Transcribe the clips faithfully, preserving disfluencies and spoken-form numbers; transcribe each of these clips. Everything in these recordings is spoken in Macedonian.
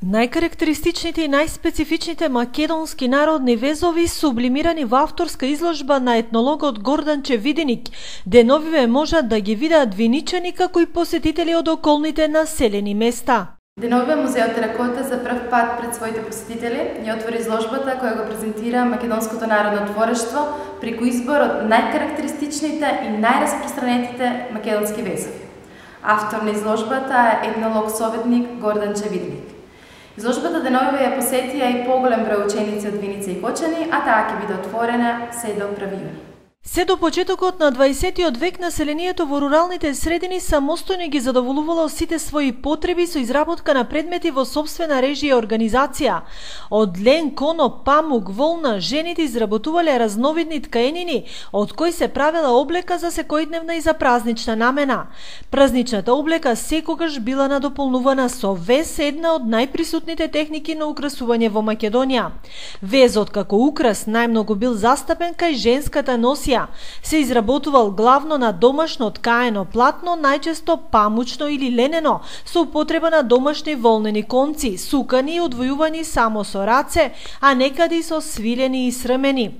Најкарактеристичните и најспецифичните македонски народни везови сублимирани во авторска изложба на етнологот Гордан Чевиденик, деновиве можат да ги видат виничани како и посетители од околните населени места. Деновиве Музеот Теракота за прв пат пред своите посетители ја отвори изложбата која го презентира македонското народно творештво преку избор од најкарактеристичните и најраспространетите македонски везови. Автор на изложбата е етнолог-советник Гордан Чевиденик. Изложбата деновиве ја посетија и поголем број ученици од Виница и Кочани, а таа ќе биде отворена се до први јуни. Се до почетокот на дваесеттиот век населението во руралните средини самостојно ги задоволувало сите своји потреби со изработка на предмети во сопствена режија и организација. Од лен, коно, памук, волна, жените изработувале разновидни ткаенини, од кои се правела облека за секојдневна и за празнична намена. Празничната облека секогаш била надополнувана со вез, една од најприсутните техники на украсување во Македонија. Везот како украс најмногу бил застапен кај женската носија. Се изработувал главно на домашно ткаено платно, најчесто памучно или ленено, со употреба на домашни волнени конци, сукани и одвојувани само со раце, а некади со свилени и срмени.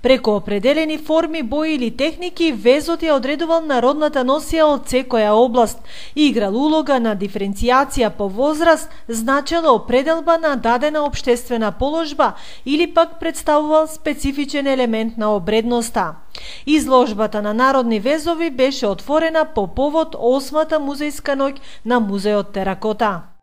Преку определени форми, бои или техники, везот ја одредувал народната носија од секоја област, играл улога на диференцијација по возраст, значело определба на дадена општествена положба или пак представувал специфичен елемент на обредноста. Изложбата на народни везови беше отворена по повод осмата музејска ноќ на Музеот Теракота.